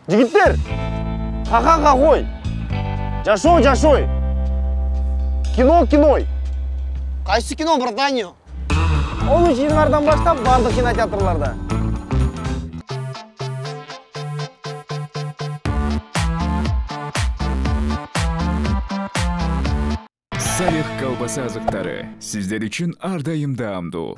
Жигиттер, ха-ха кой. Жашой. Кино киной. Кайсы кино, братаньо? 13-январдан баштап бардык кинотеатрларда. Салих колбаса азыктары сиздер үчүн ар дайым даамдуу.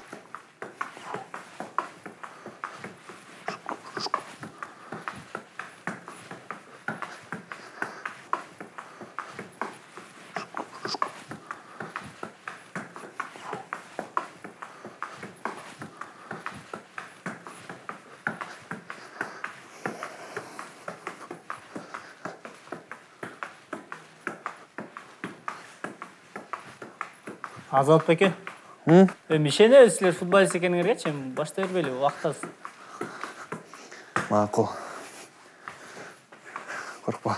Азат беке. Мишене силер футболист экениңерге баштай бербейли, убактас. Макул. Коркпа.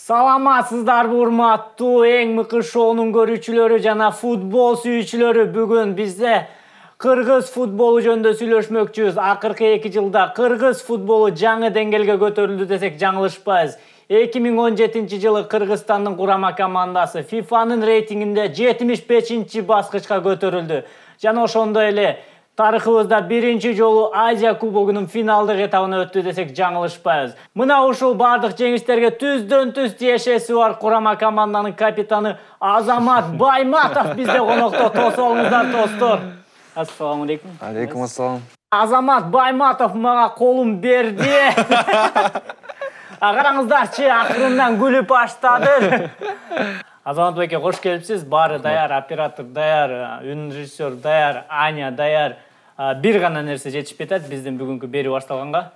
Саламатсыздарбы урматтуу эң мыкты шоунун көрүүчүлөрү жана футбол сүйүүчүлөрү. Бүгүн бизде кыргыз футболу жөнүндө сүйлөшмөкчүбүз. Акыркы 2 жылда кыргыз футболу жаңы деңгээлге көтөрүлдү десек жаңылышпайбыз. 2017 жылы Кыргызстандын курама командасы ФИФАнын рейтингинде 75-чи баскычка көтөрүлдү. Жана ошондой эле тарыхыбызда биринчи жолу Азия кубогунун финалдык этабына өттү десек жаңылышпайбыз. Мына ушул бардык жеңиштерге түздөн-түз тиешеси бар курама команданын капитаны Азамат Байматов бизде конокто. Тосолуңуздар, достор. Ассаламу алейкум. Алейкум ассалам. Азамат Байматов мага колун берди. Караңыздарчы, акырындан күлүп баштады. Азамат беке, кош келипсиз. Баары даяр, оператор даяр, үн режиссер даяр, Аня даяр. Бир гана нерсе жетишпей атат биздин бүгүнкү берүү башталганга.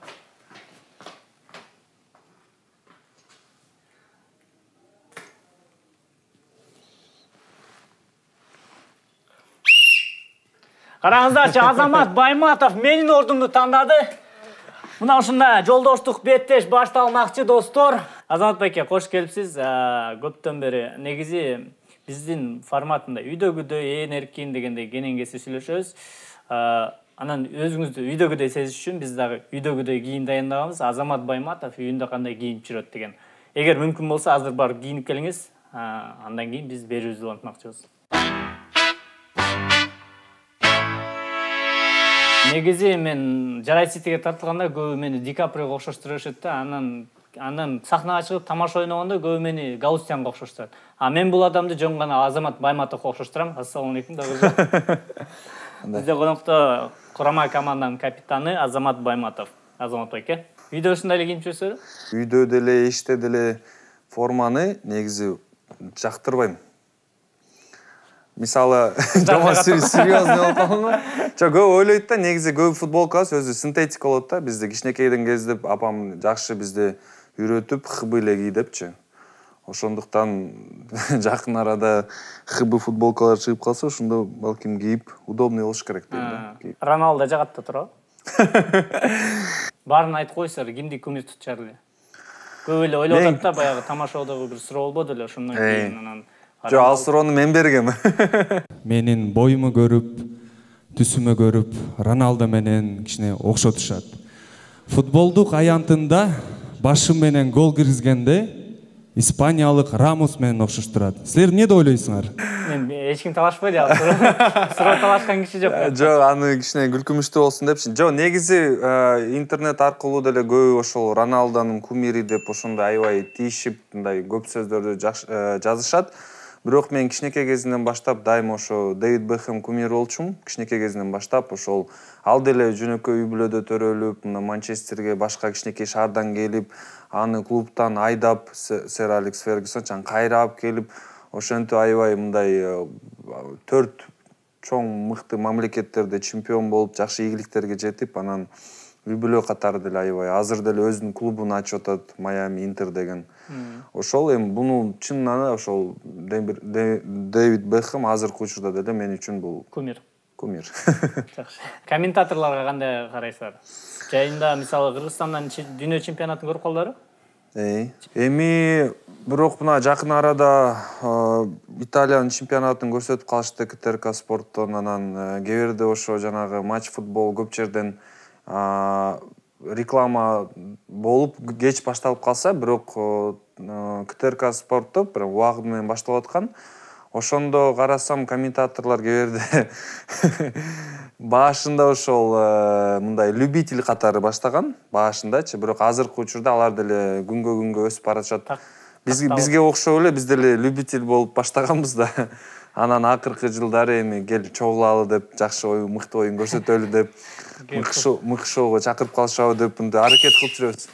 Караңыздарчы, Азамат Байматов менин ордумду тандады. Мына ушундай жолдоштук беттеш башталмакчы, достор. Азамат беке, кош келипсиз. Көптөн бери негизи биздин форматында үйдөгүдөй, ээн эркин дегендей кенен-кесип сүйлөшөбүз. Анан өзүңүздү үйдөгүдөй сезиш үчүн биз дагы үйдөгүдөй кийин даяндаганбыз. Азамат Байматов үйүндө кандай кийинип жүрөт деген. Эгер мүмкүн болсо азыр барып кийинип келиңиз. Андан кийин биз берүүбүздү улантмакчыбыз. Негизи мен Жарай Ситиге тартылганда көбү мени Ди Каприого окшоштурушат да. Андан сахнага чыгып тамаша ойногондо көбү мени Галустянга окшоштурат. Мен бул адамды жөн гана Азамат Байматовго окшоштурам. Ассаламу алейкум дагы. Бизде конокто курама команданын капитаны Азамат Байматов. Азамат беке, үйдө ушундай эле кийинип жүрөсүзбү? Үйдө деле, иште деле форманы негизи жактырбайм. Мисалы, жаман серьезный болуп калган. Көп ойлойт да, негизи көп футболкабыз өзү синтетик болот да. Бизде кичинекейден кездеп апам жакшы бизди үйрөтүп, ХБ эле ки депчи. Ошондуктан жакын арада ХБ футболкалар чыгып калса, ошондо балким кийип удобный болуш керек дейм да. Роналдо жагат да туурабы? Баарын айтып койсуңар, кимди кумир тутчар эле? Көп эле ойлоп атат да, баягы тамашоодогу бир суроо болбоду эле, ошондон кийин анан Жо, ал суроону мен бергем. Менин боюму көрүп, түсүмө көрүп, Роналдо менен кичине окшотушат. Футболдук аянтында башым менен гол киргизгенде Испаниялык Рамос менен окшоштурат. Силер эмне деп ойлойсуңар? Мен эч ким талашпайт ал. Суроо талашкан киши жок. Жок, аны кичине күлкүмүштүү болсун депчи. Жок, негизи интернет аркылуу деле көбү ошол Роналдонун кумири деп ошондой аябай тийишип, мындай көп сөздөрдү жазышат. Бирок мен кичинекей кезимден баштап дайыма ошо Дэвид Бекхэм кумир болчумун. Кичинекей кезимден баштап ошол ал деле жөнөкөй үй бүлөдө төрөлүп, мына Манчестерге башка кичинекей шаардан келип, аны клубтан айдап, Сэр Алекс Фергюсон чаң кайрап келип, ошентип аябай мындай 4 чоң мыкты мамлекеттерде чемпион болуп, жакшы ийгиликтерге жетип, анан үй бүлө катары деле аябай азыр деле өзүнүн клубун ачып атат, Майами Интер деген. Ошол эми буну чынынан ошол Дэвид Бекхэм азыркы учурда деле мен үчүн бул кумир. Жакшы. Комментаторлорго кандай карайсыздар? Жайында мисалы Кыргызстандан дүйнө чемпионатын көрүп калдыңарбы? Эми бирок мына жакын арада Италиянын чемпионатын көрсөтүп калышты КТРК спорттон, анан кээ бирде ошо жанагы матч футбол көп жерден реклама болуп кеч башталып калса, бирок КТРК спортто прям убагы менен башталып аткан. Ошондо карасам комментаторлор кээ бирде башында ошол мындай любитель катары баштаган, башындачы, бирок азыркы учурда алар деле күнгө өсүп баратышат. Бизге окшоп эле биз деле любитель болуп баштаганбыз да. Анан акыркы жылдары эми кел чогулалы деп, жакшы оюн, мыкты оюн көрсөтөлү деп, мыкты шоуга чакырып калышабы деп мындай аракет кылып жүрөбүз.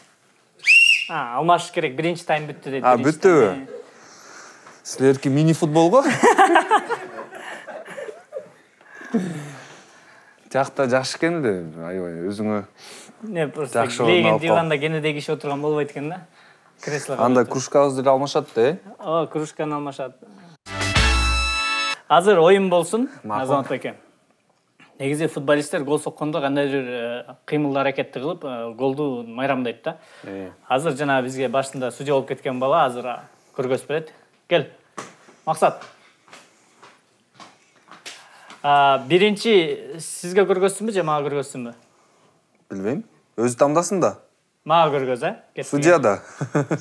Алмашыш керек, биринчи тайм бүттү дейт. Бүттүбү? Силерки мини футболго? Тиякта жакшы экен эле, аябай өзүңө. Не просто леген диванда кенеде киши отурган болбойт экен да. Креслого. Анда кружкабызды деле алмашат да, кружканы алмашат. Азыр оюн болсун, Азамат эке. Негизи футболисттер гол соккондо кандайдыр кыймыл аракетти кылып, голду майрамдайт да. Азыр жана бизге башында судья болуп кеткен бала азыр көргөзүп берет. Кел. Максат. Биринчи сизге көргөзсүнбү же мага көргөзсүнбү? Билбейм. Өзү тамдасын да. Мага көргөз, Судья да.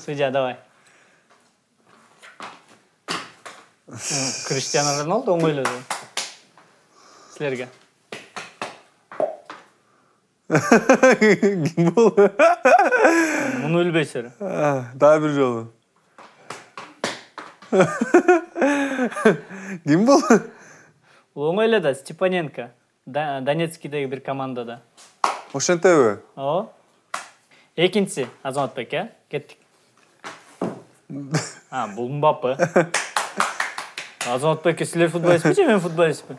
Судья, давай. Криштиану Роналду оңойлоду. Силерге. Ким болду? Муну билбейсиздер. Дагы бир жолу. Ким болду? Оңойло да, Степаненко. Донецкийдеги бир командада. Ошентеби? Ооба. Экинчиси Азаматбек, кеттик. Бул Мбаппе. Азаматбек, силер футболистпи же мен футболистпи?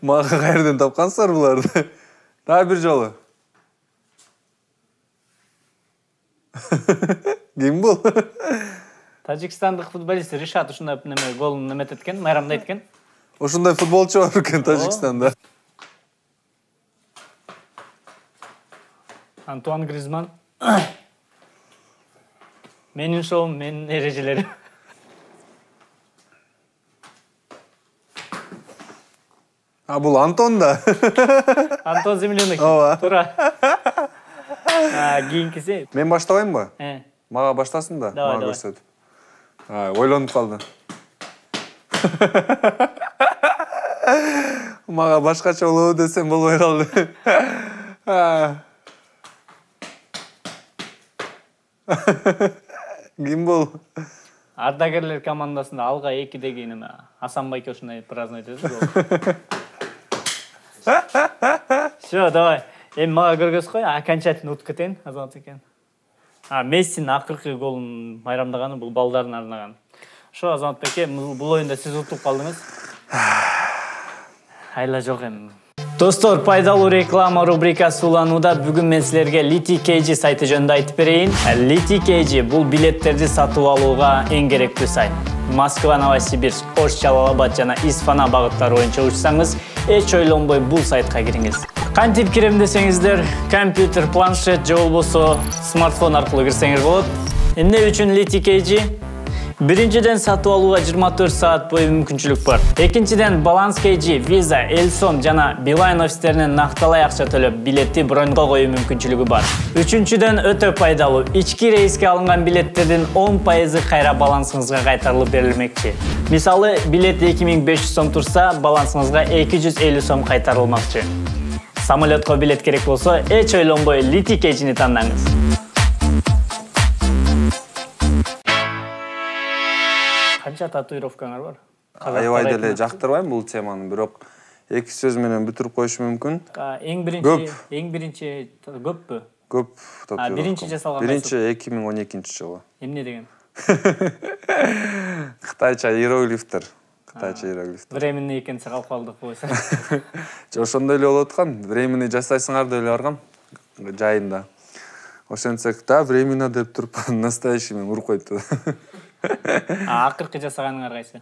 Мага кайерден тапкансыздар буларды? Дагы бир жолу. Ким бул? Тажикстандык футболист Ришат ушундай голун неметет экен, майрамдайт экен. Ошондой футболчу бар экен Тажикстанда. Антуан Гризман. Менин шоум, менин эрежелерим. Бул Антон да. Антон Землянок. Ооба. Туура. Кийинкиси. Мен баштабаймбы? Мага баштасын да, мага көрсөтүп. Ойлонуп калдым. Мага башкача болобу десем болбой калды. Ким бул? Ардагерлер командасында алга 2-деги неме Асан байке ушундай праздновать этет. Всё, давай. Эми мага көргөзүп кой, окончательно утуп кетейин, Азамат экен. Мессинин акыркы голун майрамдаганы бул балдарын арнаган. Ошо Азамат беке, бул оюнда сиз утуп калдыңыз. Айла жок эми. Достор, пайдалуу реклама рубрикасы уланууда. Бүгүн мен силерге LTKG сайты жөнүндө айтып берейин. LTKG бул билеттерди сатып алууга эң керектүү сайт. Москва, Новосибирск, Ош, Жалал-Абад жана Исфана багыттары боюнча учсаңыз, эч ойлонбой бул сайтка кириңиз. Кантип кирем десеңиздер, компьютер, планшет же болбосо смартфон аркылуу кирсеңиз болот. Эмне үчүн LTKG? Биринчиден сатып алууга 24 саат бою мүмкүнчүлүк бар. Экинчиден Balance KG, Visa, Elson жана Beeline офистеринен накталай акча төлөп билетти броньго коюу мүмкүнчүлүгү бар. Үчүнчүдөн өтө пайдалуу. Ички рейске алынган билеттердин 10% кайра балансыңызга кайтарылып берилмекчи. Мисалы, билет 2500 сом турса, балансыңызга 250 сом кайтарылмакчы. Самолетко билет керек болсо, эч ойлонбой LTKG-ни тандаңыз. Канча татуировкаңар бар? Аябай деле жактырбайм бул теманы, бирок эки сөз менен бүтүрүп коюшум мүмкүн. Эң биринчи көппү? Көп татуировка. Биринчи жасалган. Биринчи 2012-жылы. Эмне деген? Кытайча иероглифтер. Временный экенсе калып калдык койсо. Ошондой эле болуп аткан. Временный жасайсыңар деп эле баргам жайында. Ошентсек да временно деп туруп настоящий менен уруп койту. Акыркы жасаганыңар кайсы?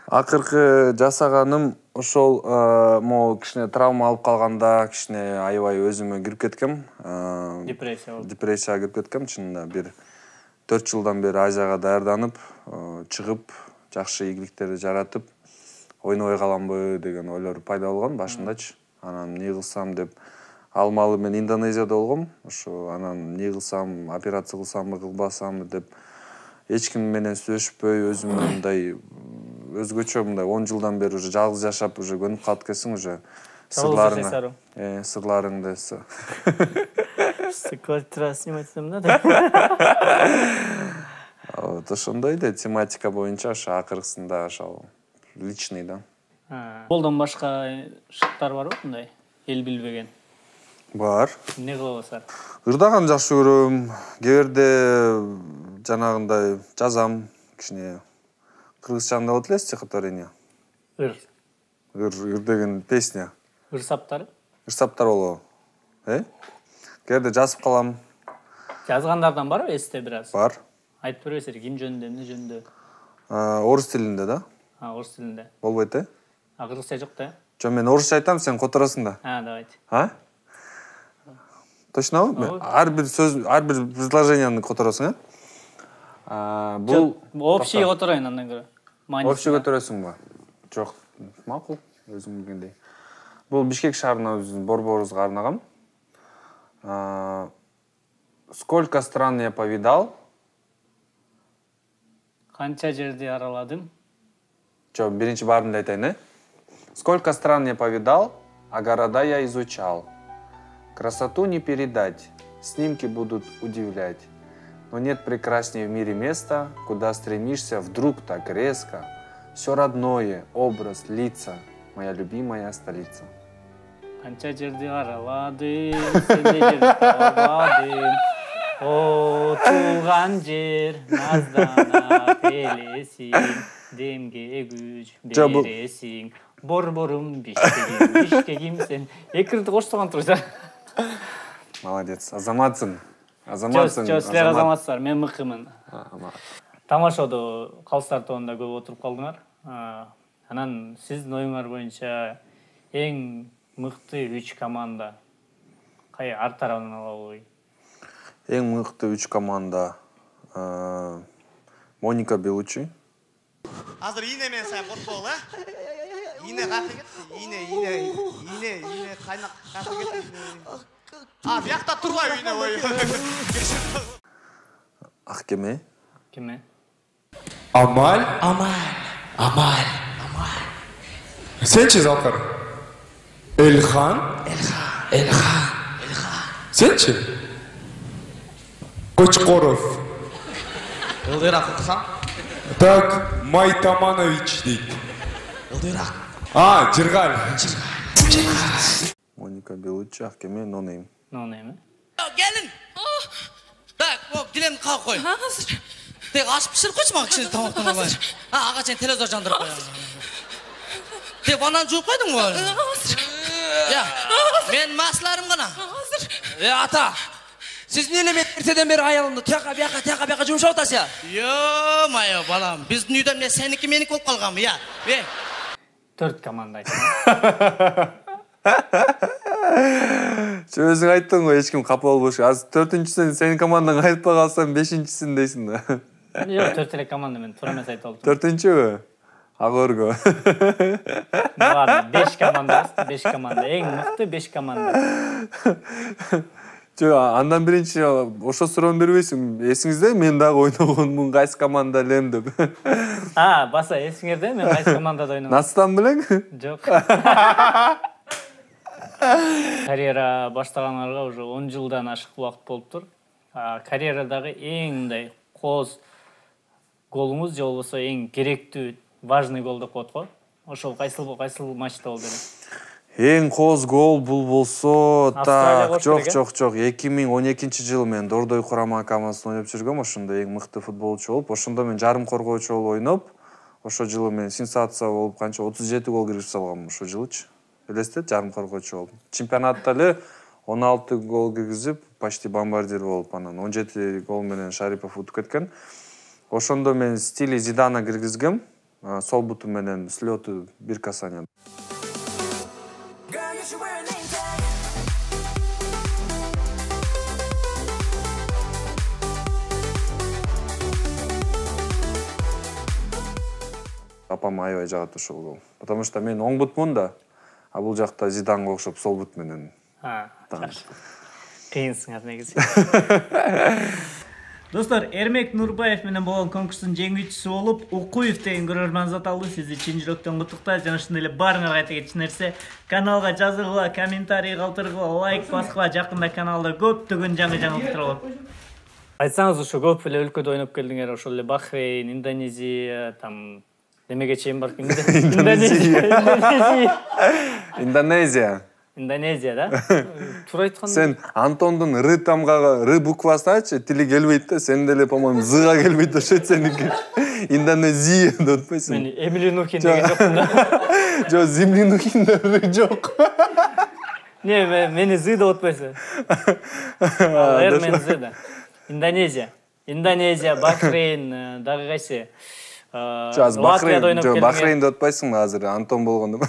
Акыркы жасаганым ошол могу кичине травма алып калганда кичине аябай өзүмө кирип кеткем. Депрессияга кирип кеткем. Чынында бир 4 жылдан бери Азияга даярданып, чыгып, жакшы ийгиликтерди жаратып, ойнобой каламбы деген ойлор пайда болгон башымдачы. Анан эмне кылсам деп алмалы мен Индонезияда болгом. Ошо анан эмне кылсам, операция кылсамбы, кылбасамбы деп эч ким менен сүйлөшпөй, өзүмө мындай өзгөчө мындай 10 жылдан бери уже жалгыз жашап уже көнүп калып кетсең уже сырларыңды квартира снимать этем да. Вот ошондой эле тематика боюнча ошо акыркысында ошол личный да. Футболдон башка шыктар барбы мындай эл билбеген? Бар. Эмне кылып атасыздар? Ырдаган жакшы көрөм. Кээ жанагындай жазам, кичине кыргызчанда болот эле стихотворение. Ыр деген песня. Ырсаптар болобу? Кээде жазып калам. Жазгандардан барбы эсте бир аз? Бар. Айтып бересиз, ким жөнүндө, эмне жөнүндө? Орус тилинде да. Орус тилинде. Болбойт э? Кыргызча жок да? Жок, мен орусча айтам, сен которосуң да. Давайте. Точнобу? Ар бир сөз, ар бир предложенияны которосуң, Бул общий которойн андан көрө. Общий которосуңбу? Жок, макул, өзүң билгендей. Бул Бишкек шаарына биздин борборубузга арнаган. Сколько стран я повидал? Канча жерди араладым? Жок, биринчи баарын эле айтайын, э? Сколько стран я повидал, а города я изучал. Красоту не передать, снимки будут удивлять. Но нет прекраснее в мире места, куда стремишься вдруг так резко. Все родное, образ, лица, моя любимая столица. Канча жерди араладым, сендей жерди табадым. О, туулган жер, наздана элесиң, демге күч бересиң. Борборум Бишкегим сен. Экирди коштогон турсуңар. Молодец, азаматсың. Жок, силер азаматсыздар, мен мыкымын. Тамашоодо калыстар тобунда көп отуруп калдыңар. Анан сиздин оюңар боюнча эң мыкты 3 команда кай ар тарабынан алабы? Эң мыкты 3 команда Моника Белучи. Азыр ийне менен сайын коркпогул, э? Ийне кайсы кетти? Ийне кайнак кайсы кетти? Биякта турбайбы ийне ой. Аккеме. Кеме? Амаль. Сенчи Залкар? Элхан. Сенчи? Кочкоров. Ылдыйраак уксаң? Так, Майтаманович дейт. Ылдыйраак. Жыргал. Моника Белучи, Аккеме, No Name. No Name. Gelin. Так, келем калып кой. Тек ашып пиширип койчу мага кичине тамактан албай. Ага сен телевизор жандырып кой. Тек банан жууп койдуңбу? Я, мен масларым гана. Ата. Сиз эмне меттерседен бери аялымды тияка бияка жумшап атасыз? Ё-моё, балам, биздин үйдө эмне сеники меники болуп калганбы, я? 4 команда айтты. Өзүң айттың го, эч ким капа болбош. Азыр 4-үчүсүн сенин командаң айтпай калсам 5-син дейсиң да. Жок, 4 эле команда мен туура эмес айтып алдым. 4-үчүбү? Агорго. Ладно, 5 команда, эң мыкты 5 команда. Жок, андан биринчи ошо суроону бербейсиң. Эсиңизде мен дагы ойногонмун, кайсы команда элем деп. Баса эсиңерде мен кайсы командада ойногом? Настан белең? Жок. Карьера баштагандарга уже 10 жылдан ашык убакыт болуптур. Карьерадагы эң мындай кооз голуңуз же болбосо эң керектүү важный гол деп коет го. Ошол кайсыл матчта болду эле? Эң кооз гол бул болсо, Австралия жок. 2012-жылы мен Дордой курама командасында ойноп жүргөм. Ошондо эң мыкты футболчу болуп, ошондо мен жарым коргоочу болуп ойноп, ошол жылы мен сенсация болуп канча 37 гол киргизип салгам ошол жылычы. Элестет, жарым коргоочу болуп. Чемпионатта эле 16 гол киргизип, почти бомбардир болуп, анан 17 гол менен Шарипов утуп кеткен. Ошондо мен стили Зидана киргизгем. Сол буту менен слёту бир касание. Апам аябай жагат ошол гол. Потому что мен оң бутмун да, а бул жакта Зиданга окшоп сол бут менен. Кыйынсыңар негизи. Достор, Эрмек Нурбаев менен болгон конкурстун жеңүүчүсү болуп, Укуев деген көрөрман зат алды. Сизди чын жүрөктөн куттуктайт. Жана ушундай эле баарыңарга айта кетчү нерсе, каналга жазылгыла, комментарий калтыргыла, лайк баскыла, жакында каналда көптөгөн жаңы жаңылыктар болот. Айтсаңыз, ошо көп эле өлкөдө ойноп келдиңер, ошол эле Бахрейн, Индонезия, там немеге чейин бар? Индонезия, да? Туура айтканда. Сен Антондун Р тамгага Р буквасын айтчы, тили келбейт да, сен деле, по-моему, Зга келбейт ошо сеники. Индонезия деп атпайсың. Мен Эмили Нухин деген жокмун да. Жок, Земли Нухинде Р жок. Не, мени З деп атпайсың. Р мен З да. Индонезия, Бахрейн, дагы кайсы? Бахрейн деп атпайсың азыр, Антон болгондо.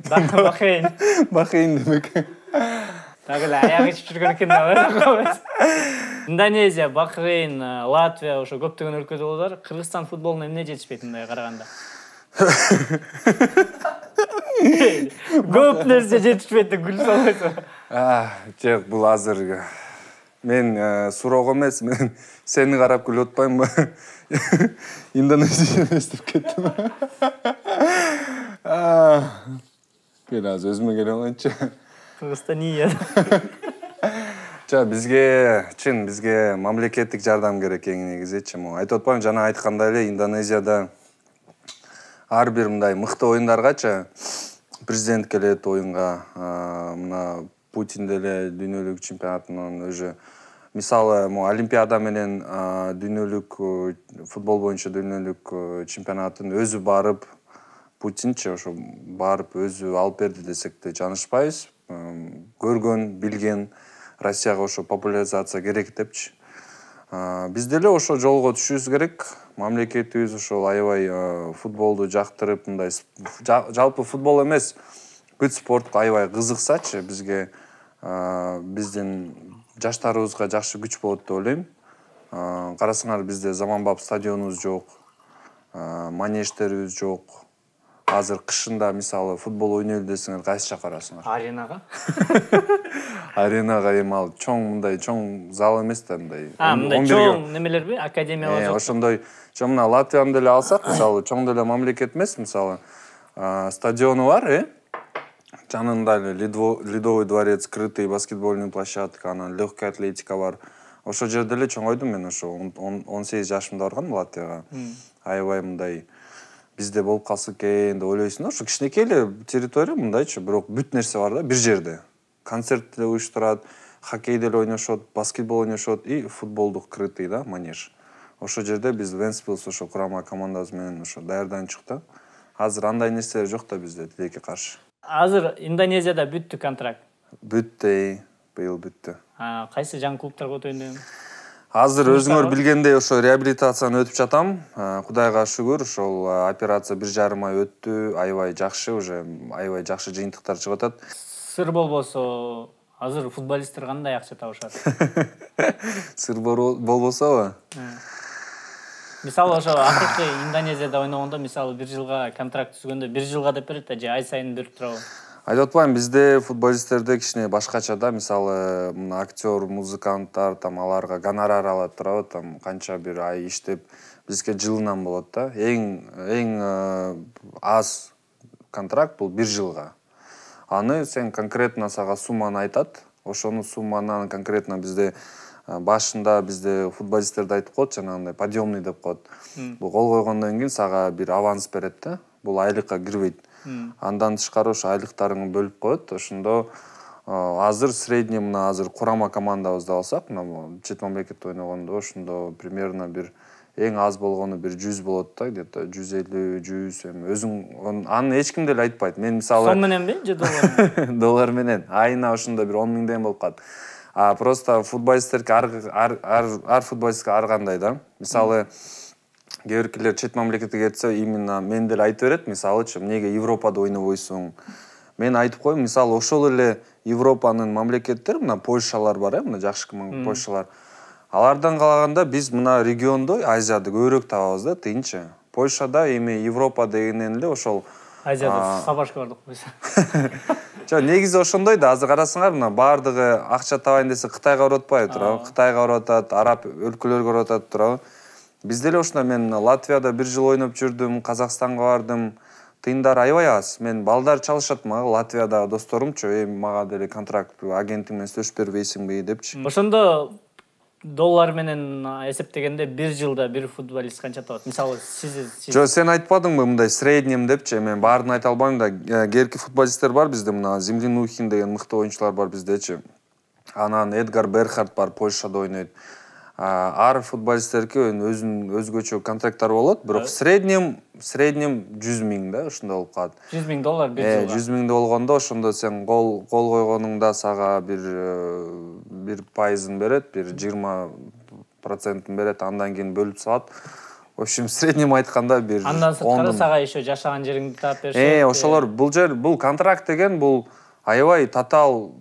Бахрейн демек. Дагы эле аягы ичип жүргөн экен да. Индонезия, Бахрейн, Латвия, ошо көптөгөн өлкөдө болдур. Кыргызстан футболуна эмне жетишпейт мындай караганда? Көп нерсе жетишпейт деп күлүп салбайсың. Жок, бул азыр мен суроого эмес, мен сени карап күлүп атпаймынбы? Индонезия эстеп кеттим. Кел азыр өзүмө келе алайынчы. Кыргызстания. Бизге мамлекеттик жардам керек эң негизичи. Айтып атпаймынбы, жана айткандай эле Индонезияда ар бир мындай мыкты оюндаргачы президент келет оюнга, мына Путин деле дүйнөлүк чемпионатынан өзү мисалы Олимпиада менен дүйнөлүк футбол боюнча дүйнөлүк чемпионатын өзү барып, Путинчи ошо барып өзү алып берди десек де жанышпайбыз. Көргөн, билген Россияга ошо популяризация керек депчи. Биз деле ошо жолго түшүбүз керек. Мамлекетибиз ошол аябай футболду жактырып, мындай жалпы футбол эмес, бүт спортко аябай кызыксачы, бизге биздин жаштарыбызга жакшы күч болот деп ойлойм. Карасаңар, бизде заманбап стадионубуз жок, манеждерибиз жок. Азыр кышында мисалы футбол ойнойлу десеңер кайсы жак барасыңар? Аренага. Аренага эми ал мындай чоң зал эмес да, мындай. Мындай чоң немелерби? Академиялар жок. Ошондой, мына Латвияны деле алсак, мисалы чоң деле мамлекет эмес, мисалы стадиону бар, жанында Ледовый дворец, крытый баскетбольный площадка, анан легкая атлетика бар. Ошол жерде эле чоң ойдум мен, ошо 18 жашымда баргам Латвияга. Аябай мындай бизде болуп калса экен деп ойлойсуң. Ошо кичинекей эле территория мындайчы, бирок бүт нерсе бар да, бир жерде. Концерт деле уюштурат, хоккей деле ойношот, баскетбол ойношот и футболдук крытый да, манеж. Ошол жерде биз Вентспилс ошо курама командабыз менен ошо даярданчык да. Азыр андай нерселер жок да бизде, тилекке каршы. Азыр Индонезияда бүттү контракт. Бүттү, быйыл бүттү. Кайсы жаңы клубтарга өтөйүн? Азыр өзүңөр билгендей ошо реабилитацияны өтүп жатам. Кудайга шүгүр, ошол операция 1,5 ай өттү, аябай жакшы, уже аябай жакшы жыйынтыктар чыгып атат. Сыр болбосо, азыр футболисттер кандай акча табышат? Сыр болбособу? Мисалы ошо акыркы Индонезияда ойногондо, мисалы 1 жылга контракт түзгөндө 1 жылга деп берет да, же ай сайын берип турабы? Айтып атпайм, бизде футболисттерде кичине башкача да, мисалы актер, музыканттар, аларга гонорар алат турабы, канча бир ай иштеп, бизге жылынан болот да. Эң аз контракт бул 1 жылга. Аны сен конкретно сага сумманы айтат, ошону сумманан конкретно бизде башында бизде футболисттерди айтып коет, жанагындай подъемный деп коет. Бул гол койгондон кийин сага бир аванс берет да. Бул айлыкка кирбейт. Андан тышкары ошо айлыктарыңды бөлүп коет. Ошондо азыр средний мына азыр курама командабызды алсак, мына чет мамлекетте ойногондо ошондо примерно бир эң аз болгону бир 100 болот да, где-то 150, 100 эми өзүң аны эч ким деле айтпайт. Мен мисалы сом мененби же доллар? Доллар менен. Айына ошондо бир 10 миңден болуп калат. Просто футболисттерге ар футболистке ар кандай да. Мисалы кээ биркилер чет мамлекетке кетсе, именно мен деле айтып берет, мисалычы, эмнеге Европада ойнобойсуң? Мен айтып коем, мисалы ошол эле Европанын мамлекеттери, мына Польшалар бар, мына жакшы Польшалар. Алардан калаганда биз мына региондо Азияда көбүрөөк табабыз да, тыйынчы. Польшада эми Европа дегенен эле ошол Азияда сабашка бардык койсо. Жок, негизи ошондой да. Азыр карасаңар, мына баардыгы акча табайын десе Кытайга барып атпайбы турабы? Кытайга барып атат, араб өлкөлөргө барып атат турабы? Биз деле ошондой, мен Латвияда бир жыл ойноп жүрдүм, Казакстанга бардым. Тыйындар аябай аз. Мен балдар чалышат мага, Латвияда досторумчу, мага деле контракт агентиң менен сөзүп бербейсиңби депчи. Ошондо доллар менен эсептегенде бир жылда бир футболист канча табат? Мисалы сиз Жок, сен айтпадыңбы мындай среднем депчи? Мен баарын айта албайм да. Керки футболисттер бар бизде, мына Землянухин деген мыкты оюнчулар бар биздечи. Анан Эдгар Берхард бар, Польшада ойнойт. Ар футболисттерге өзгөчө контракттар болот, бирок среднем 100 миң да, ошондой болуп калат. 100 миң доллар бир жылга. 100 миңде болгондо ошондо сен гол койгонуңда сага бир пайызын берет, бир 20% берет, андан кийин бөлүп салат. В общем, среднем айтканда бир 10. Андан сырткары сага еще жашаган жериңди таап беришет. Ошолор бул контракт деген бул аябай татаал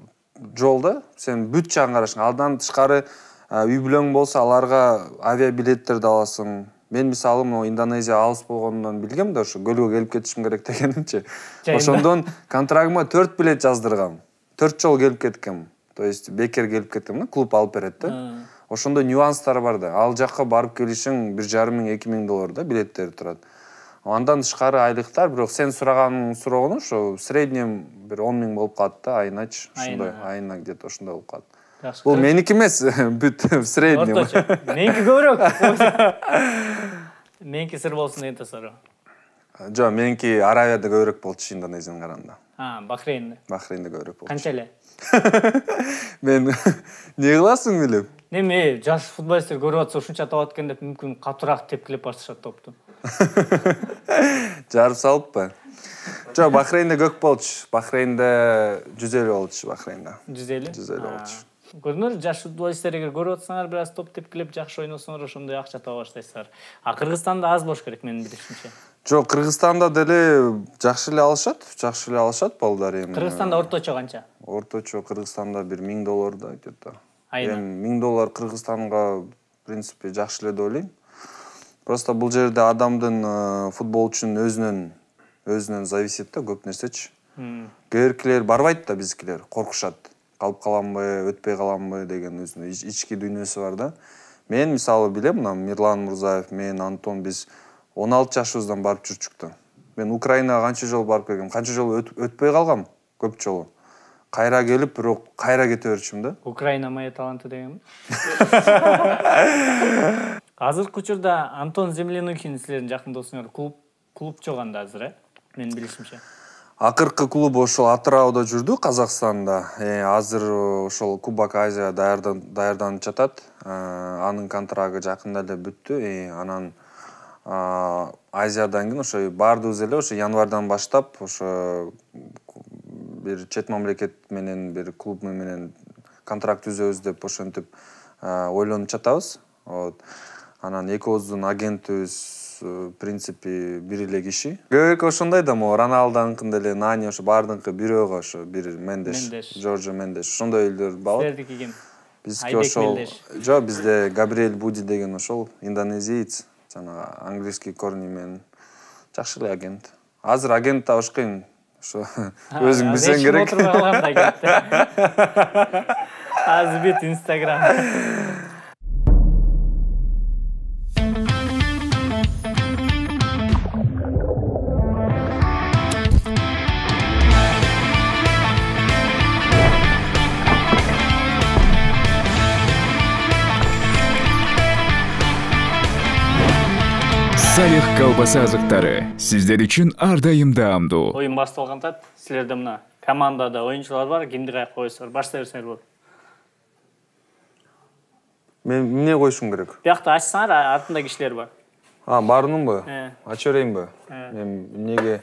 жол да. Сен бүт жагын карашың. Алдан тышкары үй бүлөң болсо аларга авиабилеттерди аласың. Мен мисалы Индонезия алыс болгондон билгем да, ошо көлгө келип кетишим керек дегенimчи. Ошондон контрагыма 4 билет жаздыргам. 4 жолу келип кеткем. То есть бекер келип кеттим, клуб алып берет да. Ошондо нюанстар бар да. Ал жакка барып келишиң 1,5 миң, 2 миң доллар да билеттери турат. Андан тышкары айлыктар, бирок сен сураганыңды сураган ошо среднем бир 10 миң болуп калат да, айыначы. Ошондой, айына где-то ошондой болуп калат. Бул меники эмес, бүт среднем. Орточо. Меники көбүрөөк. Меники сыр болсун деген тасару. Жок, меники Аравияда көбүрөөк болчу Индонезияга караганда. Бахрейнде. Бахрейнде көбүрөөк болчу. Канча эле? Мен не кыласың билем? Неме, жаш футболисттер көрүп атса ушунча табат экен деп мүмкүн катуураак тепкилеп башташат топту. Жарып салыппы? Жок, Бахрейнде көк болчу. Бахрейнде 150 болчу, Бахрейнде. 150? 150 болчу. Көрдүңөр, жаш футболисттер эгер көрүп атсаңар, бир аз топ тепкилеп жакшы ойносоңор, ошондой акча таба баштайсыздар. Кыргызстанда аз болуш керек, менин билишимче. Жок, Кыргызстанда деле жакшы эле алышат балдар эми. Кыргызстанда орточо канча? Орточо Кыргызстанда бир 1000 доллар да, где-то. Айына. Эми 1000 доллар Кыргызстанга, в принципе, жакшы эле деп ойлойм. Просто бул жерде адамдын футболчунун өзүнөн зависит да, көп нерсечи. Кээркилер барбайт да, биздикилер коркушат. Калып каламбы, өтпөй каламбы деген өзүнүн ички дүйнөсү бар да. Мен мисалы билем, мына Мирлан Мурзаев, мен Антон биз 16 жашыбыздан барып жүрчүк да. Мен Украинага канча жолу барып келгем, канча жолу өтпөй калгам, көп жолу. Кайра келип, бирок кайра кете берчүм да. Украина моя таланты дегенби? Азыркы учурда Антон Землянухин силердин жакын досуңар, клуб чоганда азыр, менин билишимче. Акыркы клуб ошол Атырауда жүрдү, Казакстанда. Азыр ошол Кубок Азия даярданып жатат. Анын контрагы жакында эле бүттү. Анан Азиядан кийин ошо баардыгыбыз эле ошо январдан баштап ошо бир чет мамлекет менен бир клуб менен контракт түзөбүз деп ошентип ойлонуп жатабыз. Анан экөөбүздүн агентибиз в принципе бир эле киши. Көбүрөөк ошондой да, Роналдонун деле, Нани ошо баардыгы бирөөгө ошо бир Мендеш, Жоржо Мендеш, ошондой элдер бар. Силердики ким? Бизге ошол жок, бизде Габриэль Буди деген ошол индонезиец, жана английский корни менен жакшы эле агент. Азыр агент табыш кыйын. Ошо өзүң билсең керек. Азыр бит Instagram. Салих колбаса азыктары сиздер үчүн ар дайым даамдуу. Оюн башталган тат. Силерде мына командада оюнчулар бар, кимди каяка коесуңар? Баштай берсеңер болот. Мен эмне коюшум керек? Биякта ачсаңар, артында кишилер бар. Барынымбы? Ача берейинби? Мен эмнеге?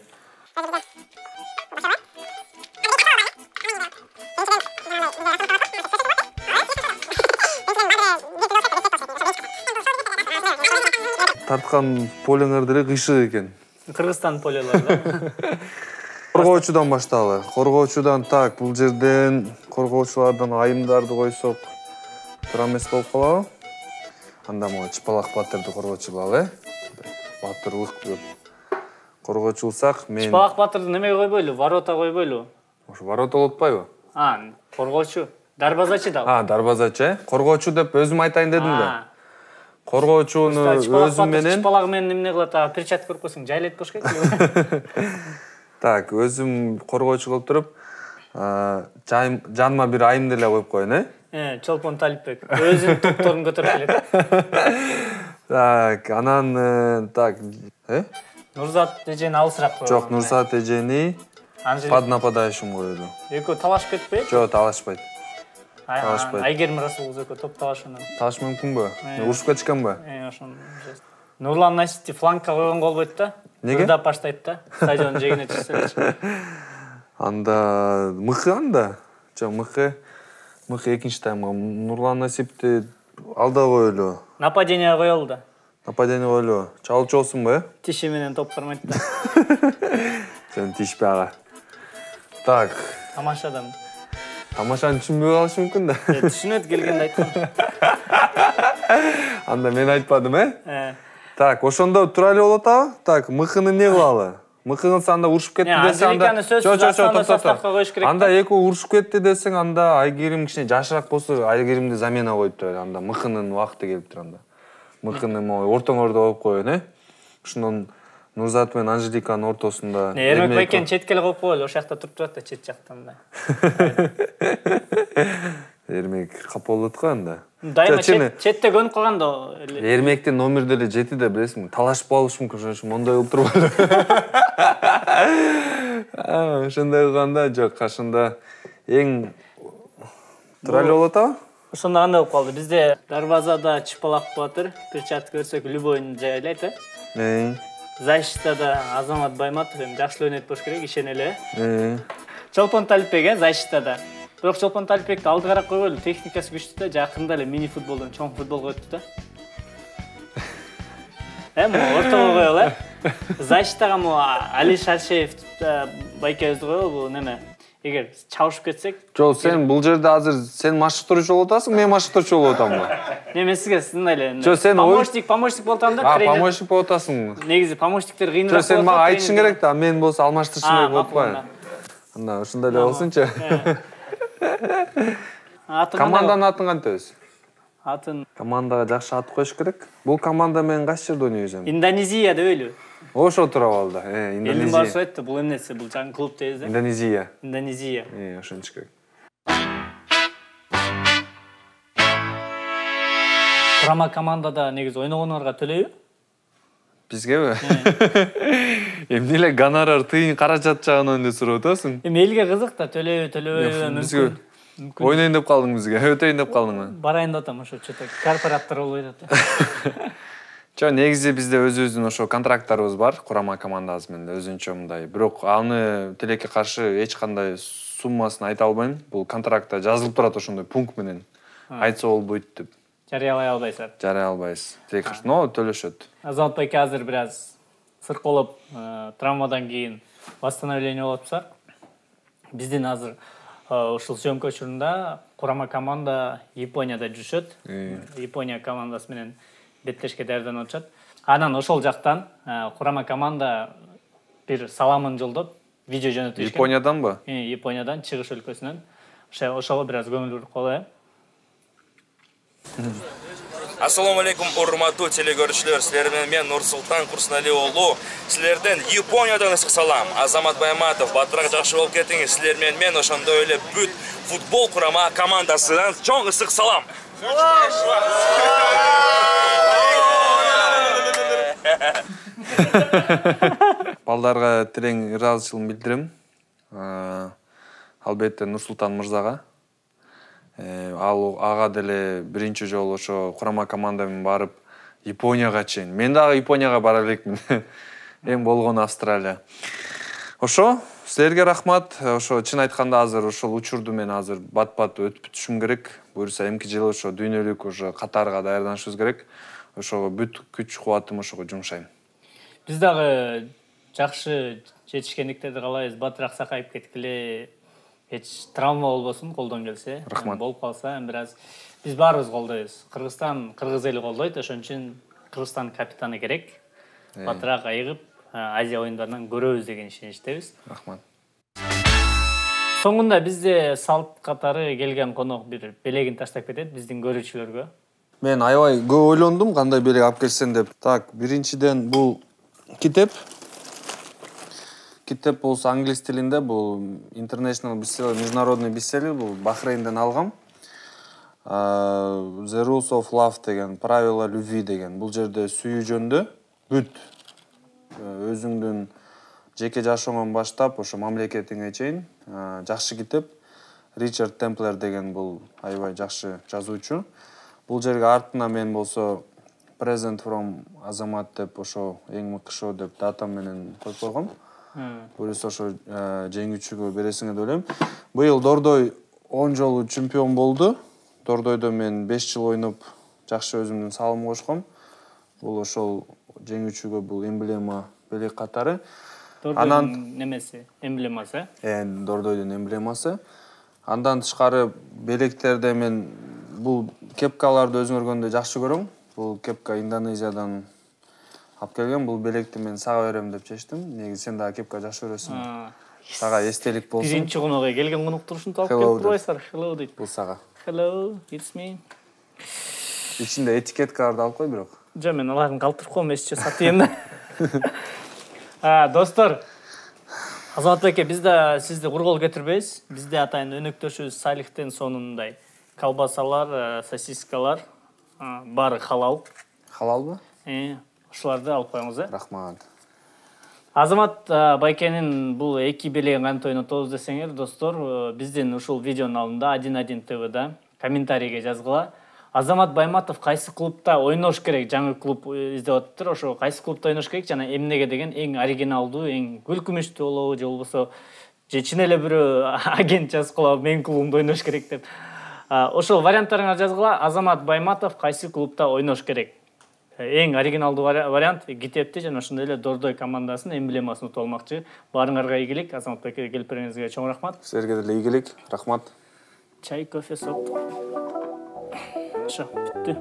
Тарткан полеңер деле кыйшык экен. Кыргызстан полелери да. Коргоочудан башталы. Коргоочудан так, бул жерден коргоочулардан айымдарды койсок туура эмес болуп калабы? Анда могу Чыпалак Батырды коргоочу кылалы, Батырлык деп коргоочулсак, мен Чыпалак Батырды немеге койбойлу? Ворота койбойлу? Ошо ворота болуп атпайбы? Коргоочу. Дарбазачы да. Дарбазачы, коргоочу деп өзүм айтайын дедим да. Коргоочуну өзүм менен Чыпалак менен эмне кылат? Перчатка көрүп койсоң жайлайт болуш керек. Так, өзүм коргоочу кылып туруп, жаныма бир айым деле коюп коеюн, Чолпон Талипбек. Өзүнүн топторун көтөрүп келет. Так, анан Нурзат эжени алысыраак коёбу. Жок, Нурзат эжени под нападающим коёду. Экөө талашып кетпейби? Жок, талашпайт. Айгерим Расул кыз экөө топ талашууну. Талаш мүмкүнбү? Урушуп кетишкенби? Ошону. Нурлан Насити флангка койгонго болбойт да. Неге? Ырдап баштайт да. Стадиондун жээгине чыкса. Анда мыкы анда. Жок, мыкы экинчи таймга Нурлан Насипти алда коелу. Нападение коелу да. Нападение коелу. Чалчу болсунбу, Тиши менен топ кармайт да. Сен тишпе ага. Так. Тамаша адам. Тамашаны түшүнбөй калышы мүмкүн да. Түшүнөт келгенде айткан. Анда мен айтпадым, Так, ошондо тура эле болот атабы? Так, мыкыны эмне кылалы? Мыкы кылса анда урушуп кетти десе анда. Анда экөө урушуп кетти десең, анда Айгерим кичине жашыраак болсо, Айгеримди замена коюп турат. Анда мыкынын убакыты келиптир анда. Мыкыны ортоңордо коюп коеюн, Ошондон Нурзат менен Анжеликанын ортосунда. Эрмек байкен четке эле коюп коелу, ошол жакта туруп турат да, чет жактан да. Эрмек капа болот го анда. Дайыма четте көнүп калган да. Эрмектин номер деле жети да, билесиңби? Талашып болуш мүмкүн, ошон үчүн мондой кылып турбайлы. Ошондой кылганда жок, кашында эң тура эле болот атабы? Ошондо кандай болуп калды? Бизде дарбазада Чыпалак Батыр, перчатка көрсөк любойн жайлайт, Защитада Азамат Байматов жакшы ойнойт болуш керек, ишенели. Чолпон Талипбек защитада. Бирок Чолпон Талипбекти алдыгараак койгойлу, техникасы күчтүү да, жакында эле мини футболдон чоң футбол коюпту да. Могу ортого коелу, Защитага могу Али Шаршеев байкебизди коелу, неме? Эгер чабышып кетсек. Жок, сен бул жерде азыр сен машыктыруучу болуп атасың, мен машыктыруучу болуп атамбы? Мен сизге сындай эле. Жок, сен помощник болуп атам да, тренер. Помощник болуп атасың. Негизи помощниктер кыйыныраак болот. Жок, сен мага айтышың керек да, мен болсо алмаштырышым керек болуп атпайбы? Анда ушундай эле болсунчу. Команданын атын кантебиз? Атын командага жакшы ат коюш керек. Бул команда менен кайсы жерде ойнойбуз? Индонезия дебейлби? Ошо тура болду. Элдин башы айтты, бул эмнеси? Бул жаңы клуб дейбиз да? Индонезия. Индонезия. Ошончу керек. Курама командада негизи ойногоңорго төлөйбү? Бизгеби? Эмне эле гонорар, тыйын каражат жагынан эле сурап атасың? Элге кызык да, төлөйбү мүмкүн. Ойнойн деп калдың бизге, өтөйүн деп калдыңбы? Барайын деп атам, ошо чөтө корпораттар болбой атат. Жок, негизи бизде өзүбүздүн ошо контракттарыбыз бар, курама командабыз менен өзүнчө мындай. Бирок аны тилекке каршы эч кандай суммасын айта албайм. Бул контрактта жазылып турат ошондой пункт менен. Айтса болбойт деп. Жарыялай албайсыздар. Жарыялай албайбыз. Тилекке каршы, но төлөшөт. Азамат байке азыр бир аз сырколоп, травмадан кийин восстановление болуп атпсыздар. Биздин азыр ушул съемка учурунда курама команда Японияда жүрүшөт. Япония командасы менен беттешке даярданып атышат. Анан ошол жактан курама команда бир саламын жолдоп, видео жөнөтүшкөн. Японияданбы? Япониядан, чыгыш өлкөсүнөн. Ошого бир аз көңүл буруп калалы. Ассаламу алейкум, урматтуу телекөрүүчүлөр. Силер менен мен Нурсултан Курсуналиев уулу. Силерден Япониядан ысык салам. Азамат Байматов, батыраак жакшы болуп кетиңиз. Силер менен мен ошондой эле бүт футбол курама командасынан чоң ысык салам. Балдарга терең ыраазычылыгымды билдирем. Албетте Нурсултан мырзага. Ал ага деле биринчи жолу ошо курама команда менен барып Японияга чейин. Мен дагы Японияга бара элекмин. Эң болгону Австралия. Ошо, силерге рахмат. Ошо чын айтканда азыр ошол учурду мен азыр бат-бат өтүп бүтүшүм керек. Буюрса эмки жылы ошо дүйнөлүк ошо катарга даярданышыбыз керек. Ошого бүт күч кубатым ошого жумшайм. Биз дагы жакшы жетишкендиктерди каалайбыз. Батыраак сакайып кеткиле. Эч травма болбосун, колдон келсе. Рахмат. Болуп калса, бираз биз баарыбыз колдойбуз. Кыргызстан кыргыз эли колдойт, ошон үчүн Кыргызстан капитаны керек. Батыраак айыгып, Азия оюндарынан көрөбүз деген ишеничтебиз. Рахмат. Соңунда бизде салт катары келген конок бир белегин таштап кетет биздин көрүүчүлөргө. Мен аябай көп ойлондум кандай белек алып келсем деп. Так, биринчиден бул китеп. Китеп болсо англис тилинде, бул international bestseller, международный бестселлер, бул Бахрейнден алгам. The Rules of Love деген, правила любви деген. Бул жерде сүйүү жөнүндө бүт өзүңдүн жеке жашооңон баштап, ошо мамлекетиңе чейин жакшы китеп. Ричард Темплер деген бул аябай жакшы жазуучу. Бул жерге артына мен болсо Present from Азамат деп ошо эң мыкты шоу деп датам менен коюп койгом. Буюрса ошо жеңүүчүгө бересиңер деп ойлойм. Быйыл Дордой 10 жолу чемпион болду. Дордойдо мен 5 жыл ойноп жакшы өзүмдүн салымды кошком. Бул ошол жеңүүчүгө бул эмблема белек катары. Дордойдун немеси, эмблемасы. Дордойдун эмблемасы. Андан тышкары белектерде мен бул кепкаларды өзүң көргөндө жакшы көрөм. Бул кепка Индонезиядан алып келген. Бул белекти мен сага берем деп чечтим. Негизи сен дагы кепка жакшы көрөсүң. Сага эстелик болсун. Биринчи конокко келген коноктор ушинтип алып келип турбайсыздар. Hello дейт. Бул сага. Hello, it's me. Ичинде этикеткаларды алып кой бирок. Жо, мен алардын калтырып коем, эсче сатыйм да. Достор, Азамат байке, биз да сизди кургол кетирбейбиз. Бизде атайын өнөктөшүбүз Салихтен сонундай колбасалар, сосискалар, баары халал. Халалбы? Ушуларды алып коюңуз, Рахмат. Азамат байкенин бул эки белегин кантип ойнотобуз десеңер, достор, биздин ушул видеонун алдында 11 ТВда комментарийге жазгыла. Азамат Байматов кайсы клубта ойнош керек? Жаңы клуб издеп атыптыр. Ошо кайсы клубта ойнош керек жана эмнеге деген эң оригиналдуу, эң күлкүмүштүү болобу, же болбосо же чын эле бирөө агент жазып калабы, мен клубумда ойнош керек деп. Ошол варианттарыңа жазгыла. Азамат Байматов кайсы клубта ойнош керек? Эң оригиналдуу вариант китепти жана ошондой эле Дордой командасынын эмблемасын утуп алмакчы. Баарыңарга ийгилик. Азамат байке келип бергениңизге чоң рахмат. Силерге деле ийгилик. Рахмат. Чай, кофе, соп. Ошо, бүттү.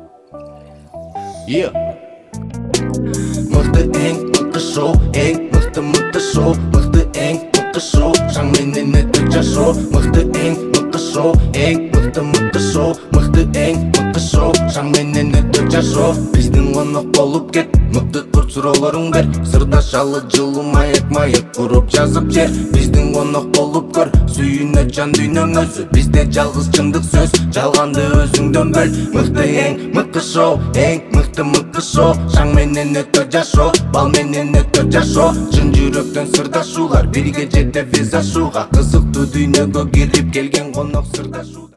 Мыкты эң мыкты шоу, эң мыкты шоу, мыкты эң мыкты шоу, шаң менен өтө жашоо, мыкты эң мыкты шоу, эң мыкты шоу, мыкты эң мыкты шоу, шаң менен өтө жашоо. Биздин конок болуп кет, мыкты курт суроолоруң бер, сырдашалы жылуу маек куруп жазып жер. Биздин конок болуп көр, сүйүнө жан дүйнөң өзү, бизде жалгыз чындык сөз, жалганды өзүңдөн бөл. Мыкты эң мыкты шоу, эң мыкты шоу, шаң менен өтө жашоо, бал менен өтө жашоо. Чын жүрөктөн сырдашуулар, бирге жетебиз ашууга, кызыктуу дүйнөгө кирип келген конок сырдашуу.